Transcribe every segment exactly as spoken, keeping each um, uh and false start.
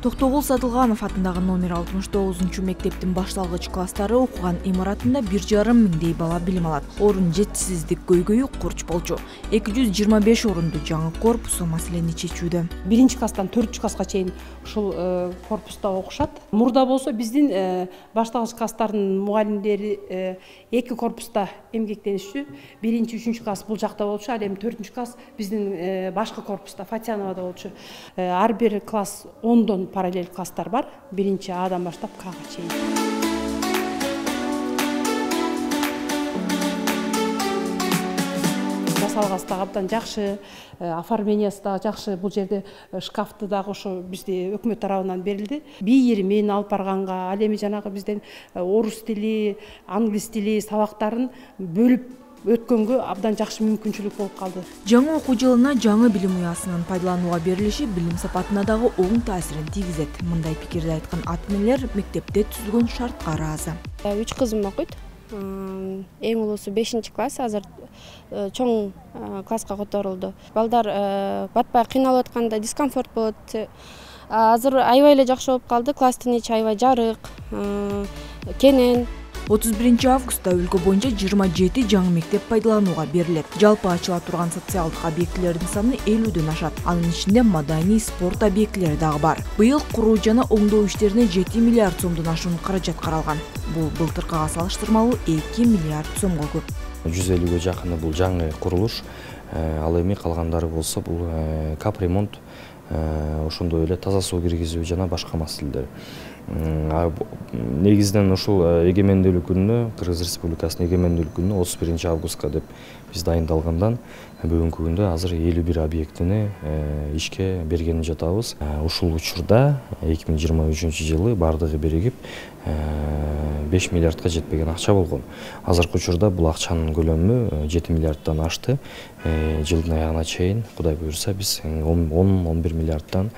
Токтогул Сатылганов атындагы номер алтымыш тогузунчу мектептин башталгыч класстары окуган имаратында бир жарым миңдей бала билим алат. Орун жетишсиздик көйгөйү курч болчу. эки жүз жыйырма беш орунду жаңы корпус маселени чечүүдө. Биринчи класстан төртүнчү класска чейин ушул корпуста окушат. Мурда болсо биздин башталгыч класстардын мугалимдери эки корпуста эмгектенишчү. Биринчи, үчүнчү класс бул жакта болчу, ал эми төртүнчү класс биздин башкы корпуста Фатьяновада болчу. Ар бир класс ондон параллель класстар бар. Биринчи Адан баштап Кга чейин. Жасалгасы дагы абдан жакшы, оформлениясы дагы жакшы. Бул жерде шкафты дагы ошо бизде өкмөт тарабынан берилди. Бийирмин алып барганга, ал эми жанагы бизден орус тили, англис тили сабактарын бөлүп өткөнгө абдан жакшы мүмкүнчүлүк болуп калды. Жаңы окуу жылына жаңы билим уясынын пайдаланууга берилиши билим сапатына дагы оң таасирин тийгизет. Мындай пикирди айткан ата энелер мектепте түзүлгөн шартка ыраазы. Үч кызым окуйт. Эң улуусу бешинчи класс, азыр чоң класска которулду. Балдар батпай кыйналып атканда дискомфорт болот. Азыр аябай эле жакшы болуп калды. Класстын ичи аябай жарык, кенен. отуз биринчи августта өлкө боюнча жыйырма жети жаңы мектеп пайдаланууга берилет. Жалпы ачыла турган социалдык объектилердин саны элүүдөн ашат. Анын ичинде маданий, спорт объектилери дагы бар. Быйыл куруу жана оңдоо иштерине жети миллиард сомдон ашуун каражат каралган. Бул былтыркыга салыштырмалуу эки миллиард сомго көп. жүз элүүгө жакыны бул жаңы курулуш. Ал эми калгандары болсо бул капремонт, ошондой эле таза суу киргизүү жана башка маселелер. Негизинен ушул эгемендүүлүк күнүнө, Кыргыз Республикасынын эгемендүүлүк күнүнө отуз биринчи августка деп биз дайындалгандан бүгүнкү күндө азыр элүү бир объектини ишке бергени жатабыз. Ушул учурда эки миң жыйырма үчүнчү жылы бардыгы биригип беш миллиардка жетпеген акча болгон. Азыркы учурда бул акчанын көлөмү жети миллиардтан ашты. Жылдын аягына чейин Кудай буйрса биз он он бир миллиардтан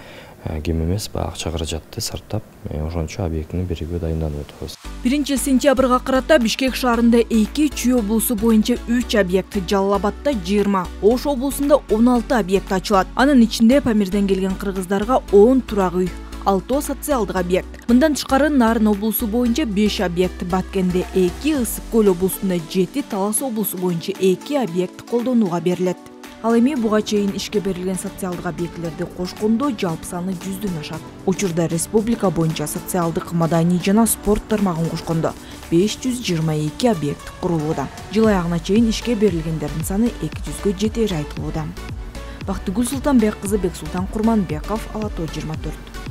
кем эмес акча каражатты сарптап, ошончо объектини берүүгө дайынданып атабыз. биринчи сентябрга карата Бишкек шаарында эки, Чүй облусу боюнча үч объект, Жалал Абадта жыйырма, Ош облусунда он алты объект ачылат. Анын ичинде Памирден келген кыргыздарга он турак үй, алты социалдык объект. Мындан тышкары Нарын облусу боюнча беш объект, Баткенде эки, Ысык Көл облусунда жети, Талас облусу боюнча эки объект колдонууга берилет. Ал эми буга чейин ишке берилген социалдык объектилерди кошкондо жалпы саны жүздөн ашат. Учурда республика боюнча социалдык, маданий жана спорт тармагын кошкондо беш жүз жыйырма эки объект курулууда. Жыл аягына чейин ишке берилгендердин саны эки жүзгө жетери айтылууда. Бактыгүл Султанбек кызы, Бексултан Курманбеков, Ала тоо жыйырма төрт.